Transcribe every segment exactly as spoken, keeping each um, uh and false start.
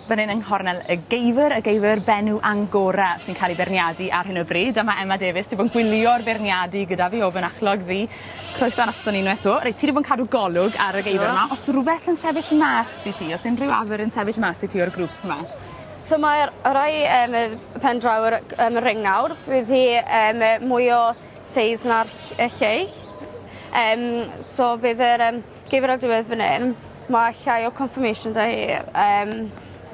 Fan hyn yng nghornel y geifr, y geifr Benw Angora sy'n cael ei beirniadu ar hyn o bryd. A mae Emma Davies 'di bod yn gwylio'r beirniadu gyda fi o fy nachlog fi. Croeso aton ni unwaith 'to. Reit, ti 'di bod yn cadw golwg ar y geifr yma. O's rwbeth yn sefyll mas i ti? O's unrhyw afr yn sefyll mas i ti o'r grŵp yma? So mae'r y rai yym y pen draw yr yym y ring nawr fydd hi yym yy mwy o seis na'r ll- y lleill. Yym so bydd yr yym geifr ar diwedd fan 'yn ma' llai o conformation 'da hi yym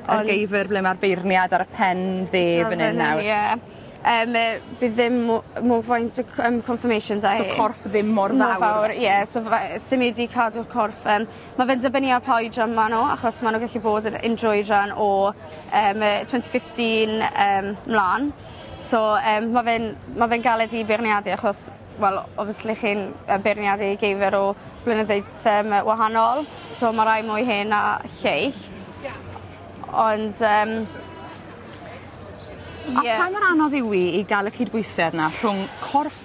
Y geifr ble ma'r beirniad ar y pen dde fan 'yn nawr. Ie. Yym yy bydd ddim mo- mo faint o c- yym conformation 'da hi. So corff ddim mor fawr. Mor fawr ie so fe- sim 'di cadw'r corff yym ma' fe'n dibynnu ar pa oedran ma' n'w achos ma' n'w gallu bod yn unryw oedran o yym yy twenty fifteen yym mlan. So yym ma' fe'n ma' fe'n galed i beirniadu achos wel obviously chi'n yy beirniadu geifr o blynyddoedd yym wahanol so ma' rai mwy hen na lleill. Ond yym A ie. pa mor anodd yw 'i i ga'l y cydbwysedd 'na rhwng corff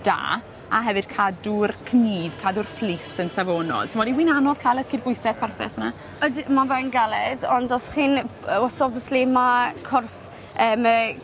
da a hefyd cadw'r cnif cadw'r fleece yn safonol? T'mod yw 'i'n anodd ca'l y cydbwysedd perffeth 'na? Ydi ma' fe'n galed ond os chi'n yy os obviously ma' corff yym yy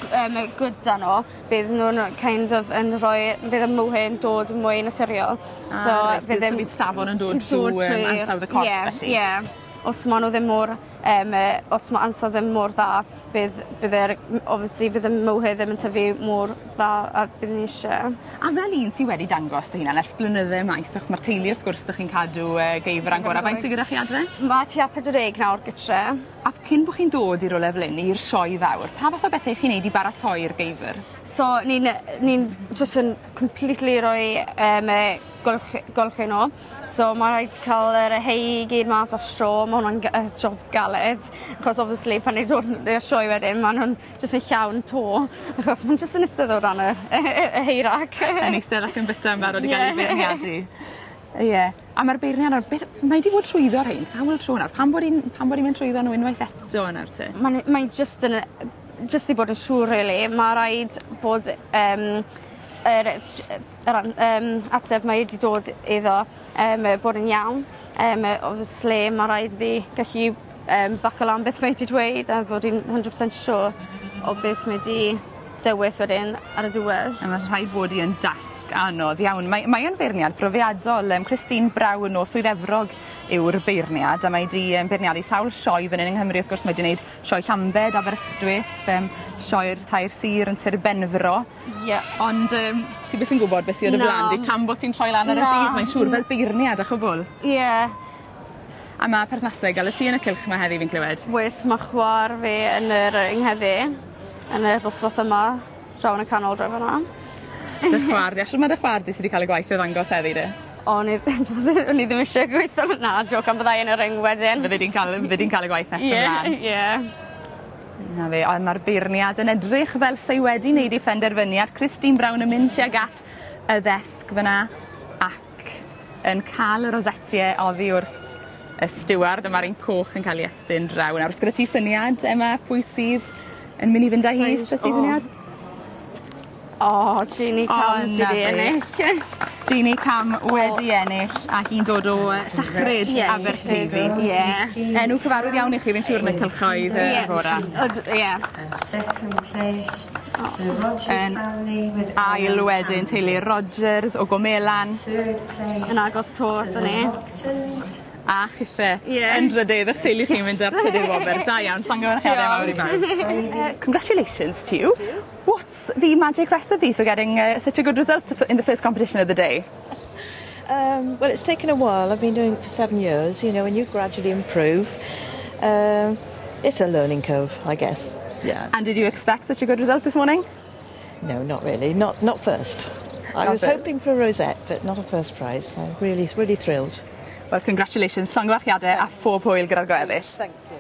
yym yy good 'da n'w bydd nw'n kind of yn rhoi bydd y mohair yn dod mwy naturiol. So ah, reit, bydd ddim... safon yn dod trw yym ansawdd y corff ie, felly. Ie. Os ma' n'w ddim mor yym yy os ma' ansawdd ddim mor dda bydd bydd yr m- obviously bydd y mohair ddim yn tyfu mor dda a bydd ni isie. A fel un sy wedi dangos dy hunan ers blynydde maith achos ma'r teulu wrth gwrs 'dych chi'n cadw yy geifr Angora. Faint sy gyda chi adre? Ma' tua pedwar deg nawr gytre. A cyn bo' chi'n dod i rywle fel 'yn i'r sioe fawr pa fath o bethe 'ych chi'n neud i baratoi'r geifr? So ni'n yy ni'n jyst yn completely roi yym yy golchi golchi n'w. So ma' raid ca'l yr hay i gyd mas o'r straw ma' wnna'n gy- yy job galed achos obviously pan ni'n dod i'r sioe wedyn ma' nw'n jyst yn llawn to achos ma'n jyst yn istedd o dan y y hay rack. Yn eistedd ac yn bita yn barod i ga'l 'u Ie. beirniadu. Ie. A ma'r beirniad nawr beth mae 'di bod trwyddo rhein sawl tro nawr pam bod 'i'n pam bod 'i'n mynd trwyddo n'w unwaith eto nawr te? Ma'n mae jyst yn yy jyst i bod yn siŵr rili ma' raid bod yym yr j- yr an- yym ateb mae 'di dod iddo yym yy bod yn iawn. Yym yy obviously ma' raid iddi gallu yym baco lan beth mae 'di dweud a fod 'i'n hundred percent sure o beth mae 'di dewis wedyn ar y diwedd. A ma' rhaid bod 'i yn dasg anodd iawn. Mae mae yn feirniad profiadol yym Christine Brown o Swydd Efrog yw'r beirniad a mae 'di yym beirniadu sawl sioe fan 'yn yng Nghymru wrth gwrs mae 'di neud sioe Llambed, Aberystwyth yym sioe'r Tair Sir yn Sir Benfro. Ie. Ond yym ti byth yn gwbod beth sy ar dy Na. flan di tan bot ti'n troi lan ar y Na. dydd mae'n siŵr fel beirniad a chwbwl. Ie. A ma' perthnasau ga'l y ti yn y cylch 'ma heddi fi'n clywed. Oes ma' chwa'r fi yn yr yng ngheddi yn y dosbarth yma draw yn y canol draw fan 'na. Dy chwa'r di a shwd ma' dy chwa'r di sy 'di ca'l y gwaith o ddangos heddi de? O'n i o'n i ddim isie gweitho na jocan byddai yn y ring wedyn. Fyddi di'n ca'l fyddi di'n ca'l y gwaith nes Ie ymlan. ie. Na fe on' ma'r beirniad yn edrych fel sei wedi neud ei phenderfyniad. Christine Brown yn mynd tuag at y ddesg fyna ac yn ca'l y rosetie oddi wrth y stiward a ma'r un coch yn ca'l 'i estyn draw nawr. O's gyda ti syniad Emma pwy sydd yn myn' i fynd â hi? Sai'n O's 'da ti o. syniad? O Jeannie O, Cam sy 'na 'di fi. ennill. Jeannie Cam wedi ennill a hi'n dod o yy Llechryd Ie. Aberteifi. Ie. Enw cyfarwydd iawn i chi fi'n siŵr yn y cylchoedd yy Ie. Angora. Od ie. And second place to Rogers Yn family with Ail Ellen wedyn teulu Townsend. Rogers o Gomelan Third place Yn agos 'to to aton the ni. Lockton's. a chithe Ie. yn drydydd 'ych teulu chi'n mynd ar trydydd wobr. Da iawn, llongyfarchiade mawr i bawb. Uh, congratulations to you. What's the magic recipe for getting uh, such a good result in the first competition of the day? Um, well, it's taken a while. I've been doing it for seven years, you know, and you gradually improve. Um, it's a learning curve, I guess. Yeah. And did you expect such a good result this morning? No, not really. Not not first. I Not was first. hoping for a rosette, but not a first prize. So really, really thrilled. Well, congratulations, llongyfarchiade a phob hwyl gyda'r gweddill. Thank you.